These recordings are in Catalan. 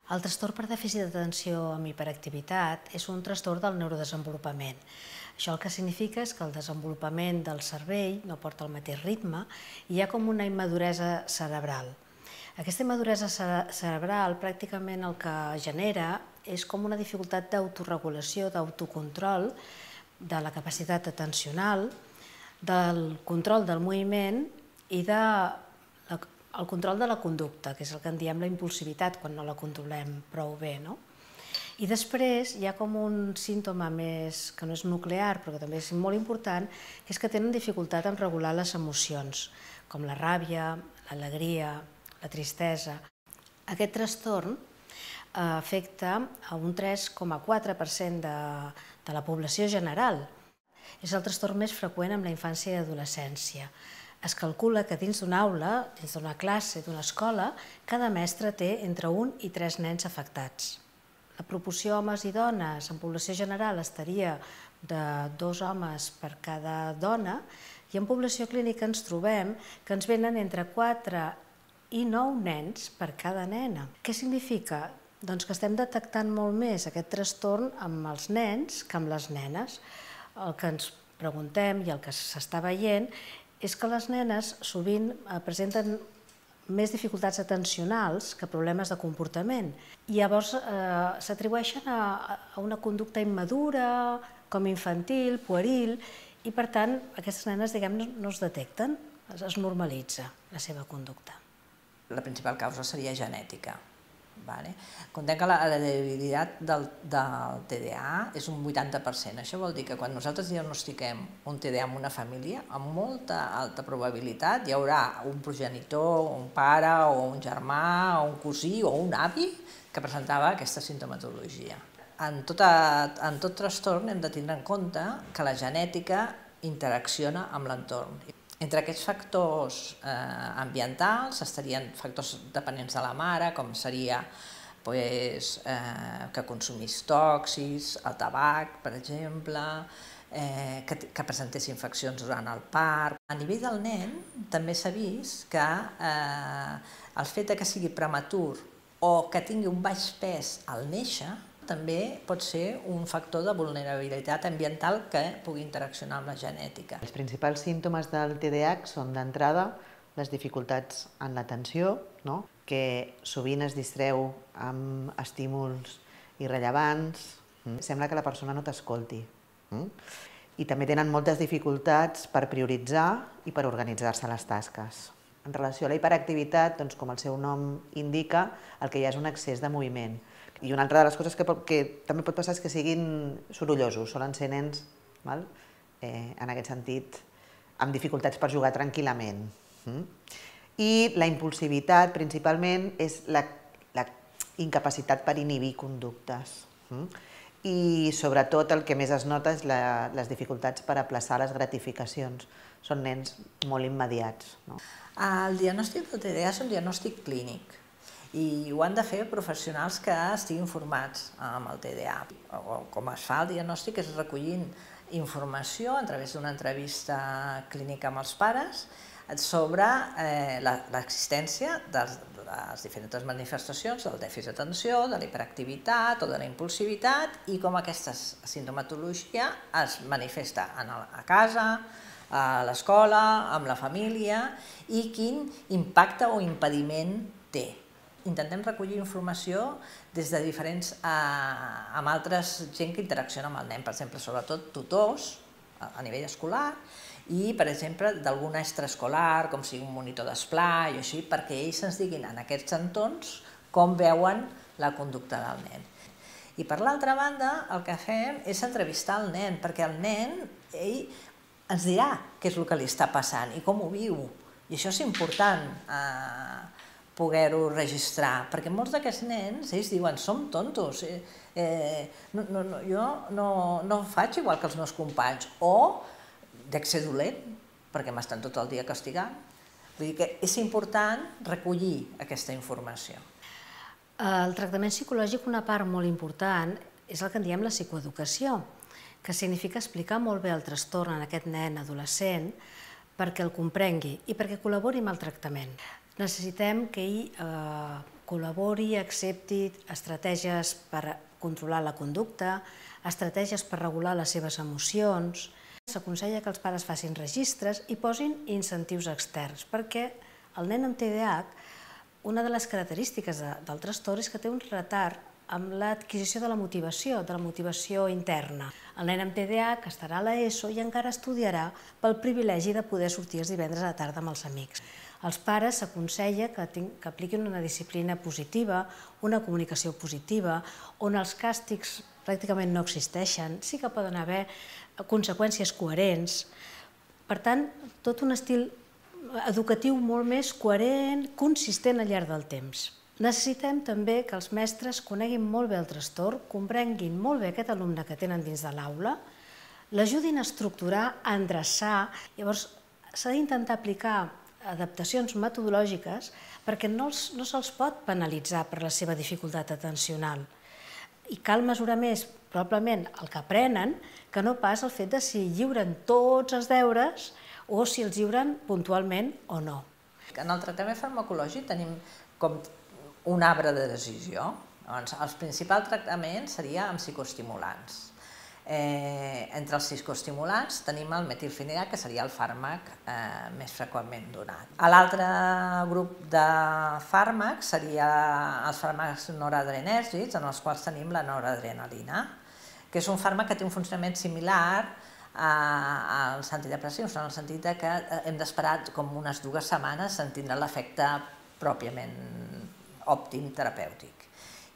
El trastorn per dèficit d'atenció amb hiperactivitat és un trastorn del neurodesenvolupament. Això el que significa és que el desenvolupament del cervell no porta el mateix ritme i hi ha com una immaduresa cerebral. Aquesta immaduresa cerebral pràcticament el que genera és com una dificultat d'autoregulació, d'autocontrol de la capacitat atencional, del control del moviment i el control de la conducta, que és el que en diem la impulsivitat quan no la controlem prou bé. I després hi ha com un símptoma més, que no és nuclear, però que també és molt important, que és que tenen dificultat en regular les emocions, com la ràbia, l'alegria, la tristesa. Aquest trastorn afecta a un 3,4% de la població general. És el trastorn més freqüent en la infància i adolescència. Es calcula que dins d'una aula, dins d'una classe, d'una escola, cada mestre té entre 1 i 3 nens afectats. La proporció homes i dones en població general estaria de 2 homes per cada dona i en població clínica ens trobem que ens venen entre 4 i 9 nens per cada nena. Què significa? Doncs que estem detectant molt més aquest trastorn amb els nens que amb les nenes. El que ens preguntem i el que s'està veient és que les nenes sovint presenten més dificultats atencionals que problemes de comportament. I llavors s'atribueixen a una conducta immadura, com infantil, pueril, i per tant aquestes nenes, diguem-ne, no es detecten, es normalitza la seva conducta. La principal causa seria genètica. Comptem que la hereditaritat del TDA és un 80%. Això vol dir que quan nosaltres diagnostiquem un TDA en una família, amb molta alta probabilitat hi haurà un progenitor, un pare, o un germà, o un cosí, o un avi que presentava aquesta sintomatologia. En tot trastorn hem de tindre en compte que la genètica interacciona amb l'entorn. Entre aquests factors ambientals estarien factors dependents de la mare, com seria que consumís tòxics, el tabac, per exemple, que presentés infeccions durant el part. A nivell del nen també s'ha vist que el fet que sigui prematur o que tingui un baix pes al néixer també pot ser un factor de vulnerabilitat ambiental que pugui interaccionar amb la genètica. Els principals símptomes del TDAH són, d'entrada, les dificultats en l'atenció, que sovint es distreu amb estímuls irrellevants, sembla que la persona no t'escolti. I també tenen moltes dificultats per prioritzar i per organitzar-se les tasques. En relació a la hiperactivitat, com el seu nom indica, el que hi ha és un excés de moviment. I una altra de les coses que també pot passar és que siguin sorollosos, solen ser nens, en aquest sentit, amb dificultats per jugar tranquil·lament. I la impulsivitat, principalment, és la incapacitat per inhibir conductes. I, sobretot, el que més es nota és les dificultats per aplaçar les gratificacions. Són nens molt immediats. El diagnòstic del TDA és un diagnòstic clínic i ho han de fer professionals que estiguin formats amb el TDA. Com es fa el diagnòstic és recollint informació a través d'una entrevista clínica amb els pares sobre l'existència de les diferents manifestacions del dèficit d'atenció, de la hiperactivitat o de la impulsivitat i com aquesta sintomatologia es manifesta a casa, a l'escola, amb la família i quin impacte o impediment té. Intentem recollir informació des de amb altres gent que interacciona amb el nen, per exemple, sobretot tutors a nivell escolar i, per exemple, d'algun extraescolar, com sigui un monitor d'esplai o així, perquè ells ens diguin en aquests entorns com veuen la conducta del nen. I per l'altra banda, el que fem és entrevistar el nen, perquè el nen, ell ens dirà què és el que li està passant i com ho viu. I això és important poder-ho registrar, perquè molts d'aquests nens, ells diuen, som tontos, jo no faig igual que els meus companys, o dec ser dolent, perquè m'estan tot el dia castigant. Vull dir que és important recollir aquesta informació. El tractament psicològic, una part molt important, és el que en diem la psicoeducació, que significa explicar molt bé el trastorn en aquest nen adolescent perquè el comprengui i perquè col·labori amb el tractament. Necessitem que ell col·labori i accepti estratègies per controlar la conducta, estratègies per regular les seves emocions. S'aconsella que els pares facin registres i posin incentius externs, perquè el nen amb TDAH, una de les característiques del trastorn és que té un retard amb l'adquisició de la motivació interna. El nen amb TDAH estarà a l'ESO i encara estudiarà pel privilegi de poder sortir els divendres a la tarda amb els amics. Als pares s'aconsella que apliquin una disciplina positiva, una comunicació positiva, on els càstigs pràcticament no existeixen, sí que poden haver conseqüències coherents. Per tant, tot un estil educatiu molt més coherent, consistent al llarg del temps. Necessitem també que els mestres coneguin molt bé el trastorn, comprenguin molt bé aquest alumne que tenen dins de l'aula, l'ajudin a estructurar, a endreçar. Llavors, s'ha d'intentar aplicar adaptacions metodològiques perquè no se'ls pot penalitzar per la seva dificultat atencional. I cal mesurar més, probablement, el que aprenen, que no pas el fet de si lliuren tots els deures o si els lliuren puntualment o no. En el tractament farmacològic tenim com un arbre de decisió. Els principals tractaments seria amb psicoestimulants. Entre els psicoestimulants tenim el metilfenidat, que seria el fàrmac més freqüentment donat. L'altre grup de fàrmacs seria els fàrmacs noradrenèrgics, en els quals tenim la noradrenalina, que és un fàrmac que té un funcionament similar als antidepressius, en el sentit que hem d'esperar com unes 2 setmanes en tindre l'efecte pròpiament òptim terapèutic.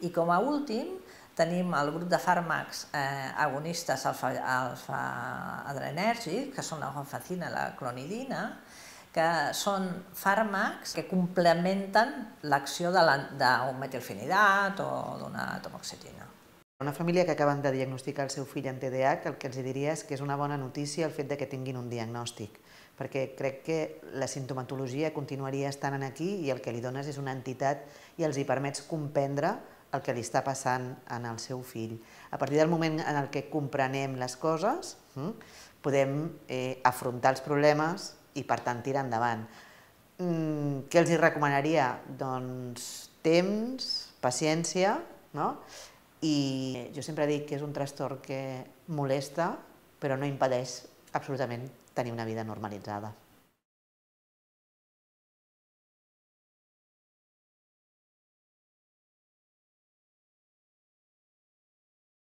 I com a últim tenim el grup de fàrmacs agonistes alfa-adrenèrgics, que són la guanfacina i la clonidina, que són fàrmacs que complementen l'acció d'un metilfenidat o d'una atomoxetina. Una família que acaben de diagnosticar el seu fill amb TDAH, el que els diria és que és una bona notícia el fet que tinguin un diagnòstic, perquè crec que la simptomatologia continuaria estant aquí i el que li dones és una entitat i els hi permets comprendre el que li està passant en el seu fill. A partir del moment en què comprenem les coses, podem afrontar els problemes i, per tant, tirar endavant. Què els recomanaria? Doncs temps, paciència, i jo sempre dic que és un trastorn que molesta, però no impedeix absolutament tenir una vida normalitzada.